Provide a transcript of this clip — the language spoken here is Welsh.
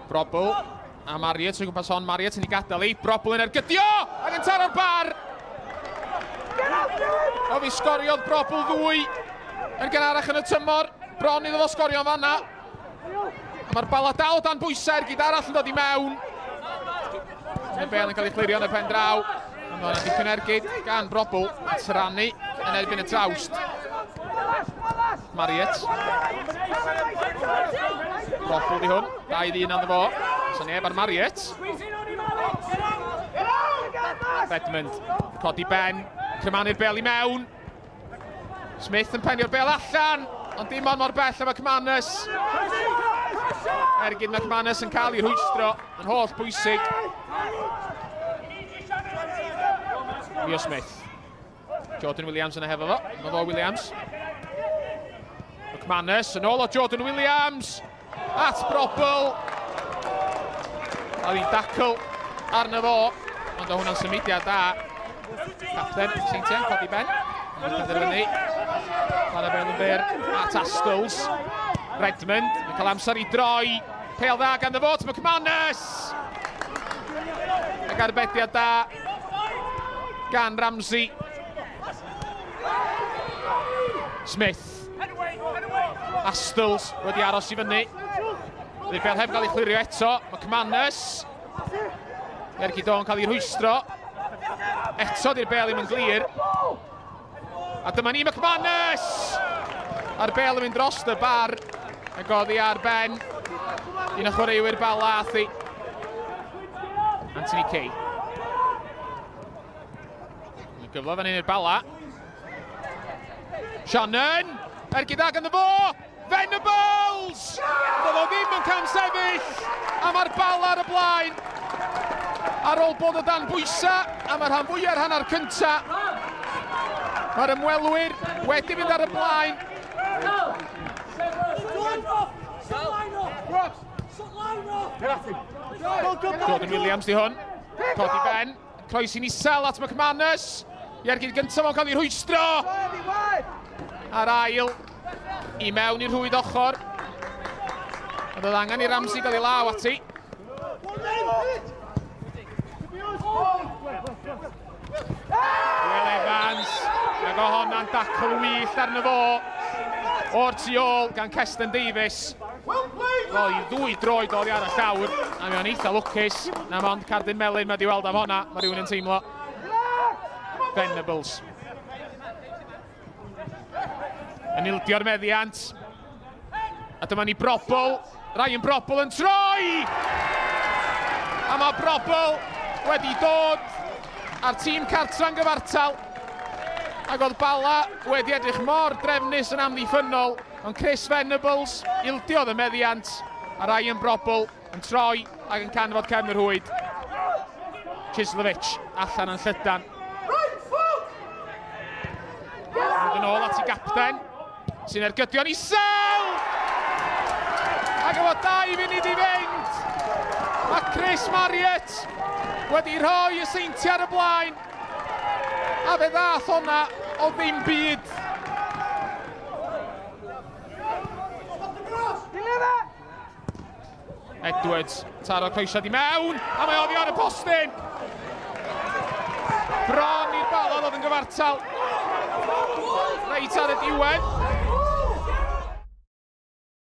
Brobbel a Marriott o gwmpas hon. Marriott yn ei gadael i. Brobbel yn ergydio! Ac yn taro'r bar! O, fi sgoriodd Brobbel 2 yn gynharach yn y tymor. Bron iddo fo sgorio yn fanna. A mae'r Bala dal o dan bwysau, ergyd arall yn dod i mewn. Y bel yn cael ei chlirio yn y pen draw. Ond o'na dipyn ergyd gan Brobbel. Tyranu yn erbyn y trawst. Marriott. Brobbel di hwn. 2-1 arno fo. So neb ar Marriott. Redmond. Codi ben. Crymanu'r bel i mewn. Smith yn penio'r bel allan. Ond dim ond mor bell am McManus. Ergyd McManus yn cael ei rhwystro yn holl bwysig. Leo Smith. Jordan Williams yna hefo fo. Mae fo Williams. McManus yn ôl o Jordan Williams. At Brobbel. Oedd hi'n dacl arno fo. Ond o hwnna'n symudiad da. Capten Seintiau, codi ben. Yn penderfynu. Chwarae bel yn fyr at Astles. Redmond yn cael amser i droi. Pêl dda gan fo at McManus. Ac arbediad da gan Ramsey. Smith. Astles wedi aros i fyny. Dydy'r bel heb gael ei chlirio eto. McManus. Ergyd o'n cael ei rhwystro. Eto di'r bel ddim yn glir. A dyma ni McManus! A'r bel yn mynd dros y bar. Yn goddi ar ben. Un o chwaraewyr Bala athi. Anthony Kay. Yn gyfle fan hyn i'r Bala. Shannon! Ergyd ag ynddo fo! Venables! Doedd o ddim yn camsefyll! A mae'r Bala ar y blaen. Ar ôl bod o dan bwysau, a mae'r rhan fwyaf ar hanner cyntaf. Mae'r ymwelwyr wedi mynd ar y blaen. Jordan Williams di hwn. Codi ben. Croesi'n isel at McManus. I ergyd gyntaf o'n cael ei rhwystro. A'r ail i mewn i'r rhwyd ochr. Ond oedd angen i Ramsey gael ei law ati. Will Evans, ac o honna'n dacl wyllt arno fo o'r tu ôl gan Keston Davies. Wel, i ddwy droed oddi ar y llawr, a mae o'n eitha lwcus. Na mond cardyn melyn mae di weld am honna, mae rhywun yn teimlo. Venables. Yn ildio'r meddiant. A dyma ni Brobbel. Ryan Brobbel yn troi! A mae Brobbel wedi dod a'r tîm cartra'n gyfartal. Ac oedd Bala wedi edrych mor drefnus yn amddiffynnol, ond Chris Venables ildiodd y meddiant, a Ryan Brobbel yn troi ac yn canfod cefn yr rhwyd. Chislovich allan yn llydan. Mynd yn ôl at ei gapten, sy'n ergydio'n isel! Ac efo 2 munud i fynd, mae Chris Marriott wedi rhoi y Seintiau ar y blaen. A fe ddath honna o ddim byd. Edwards, taro croesiad i mewn, a mae oddi ar y postyn. Bron i'r Bala ddod yn gyfartal. Reit ar y diwedd.